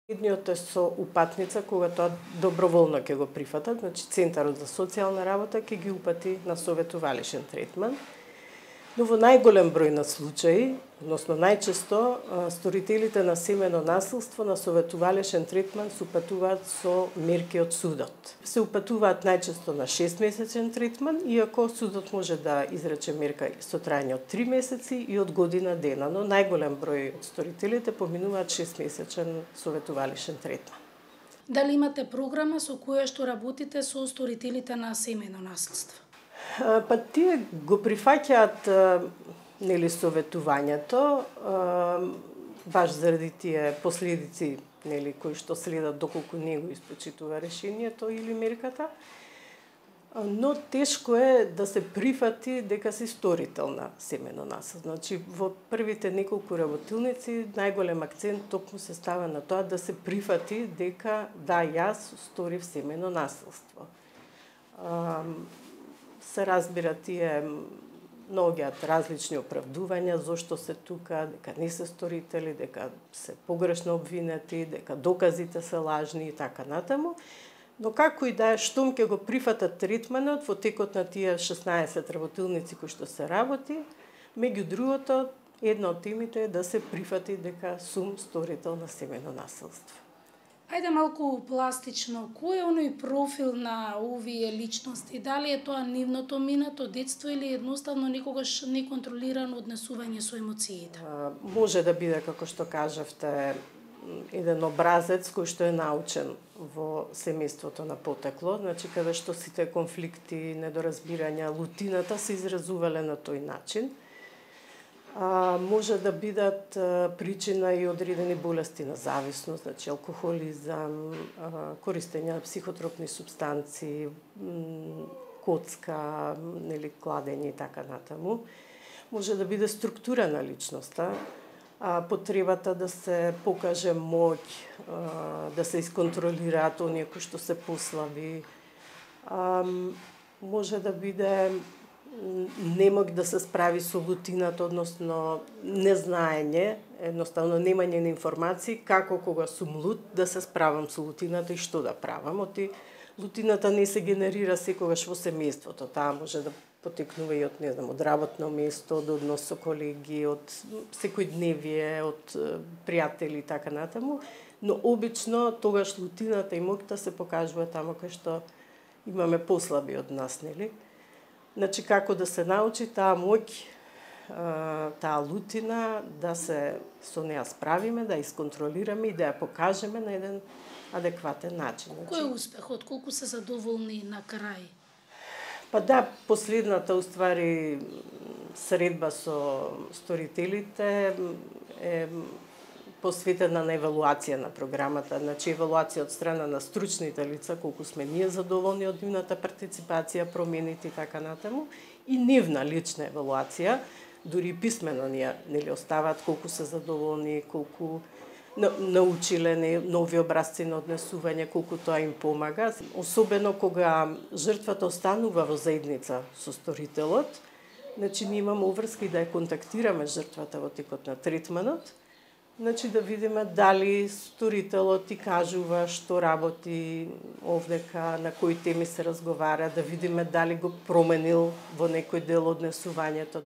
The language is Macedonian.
Едниот е со упатница, кога тоа доброволно ќе го прифатат, значи Центарот за социјална работа ќе ги упати на советувалишен третман. Но во најголем број на случаи, односно најчесто, сторителите на семено насилство на советувалишен третман се упатуваат со мерки од судот. Се упатуваат најчесто на 6-месечен третман, иако судот може да изрече мерка со трајање од 3 месеци и од година дена, но најголем број од сторителите поминуваат 6-месечен советувалишен третман. Дали имате програма со која што работите со сторителите на семено насилство? Па тие го прифаќаат советувањето баш заради тие последици кои што следат доколку не го испочитува решението или мерката, но тешко е да се прифати дека си сторител на семено насилство. Значи во првите неколку работилници најголем акцент токму се става на тоа да се прифати дека да, јас сторив семено насилство. Се разбира тие наоѓаат различни оправдувања зошто се тука, дека не се сторители, дека се погрешно обвинети, дека доказите се лажни и така натаму. Но како и да е, штом ќе го прифатат третманот во текот на тие 16 работилници кои што се работи, меѓу другото, една од темите е да се прифати дека сум сторител на семено насилство. Ајде малку пластично, кој е оној профил на овие личности? Дали е тоа нивното минато детство или едноставно некогаш неконтролирано однесување со емоциите? Може да биде, како што кажавте, еден образец кој што е научен во семејството на потекло, значи каде што сите конфликти, недоразбирања, лутината се изразувале на тој начин. Може да бидат причина и одредени болести на зависност, значи алкохолизам, користење на психотропни супстанции, коцка, кладење и така натаму. Може да биде структура на личноста, потребата да се покаже моќ, да се исконтролираат оние кои што се послаби. Може да биде немоќ да се справи со лутината, односно незнаење, едноставно немање на информации како кога сум лут да се справам со лутината и што да правам. Оти лутината не се генерира секогаш во семејството, таа може да потекнува и од работно место, од однос со колеги, од секојдневие, од пријатели и така натаму, но обично тогаш лутината и моќта се покажува таму кај што имаме послаби од нас, нели? Значи, како да се научи таа моќ, таа лутина, да се со неа справиме, да ја исконтролираме и да ја покажеме на еден адекватен начин. Кој е успехот? Колку се задоволни на крај? Па да, последната, уствари, средба со сторителите е посветена на евалуација на програмата, значи евалуација од страна на стручните лица, колку сме ние задоволни од нивната партиципација, промените и така натаму, и нивна лична евалуација, дури писмено ние оставаат колку се задоволни, колку научиле нови образци на однесување, колку тоа им помага. Особено кога жртвата останува во заедница со сторителот, значи ние имаме уврска и да ја контактираме жртвата во текот на третманот, значи да видиме дали сторителот ти кажува што работи овдека, на кои теми се разговара, да видиме дали го променил во некој дел однесувањето.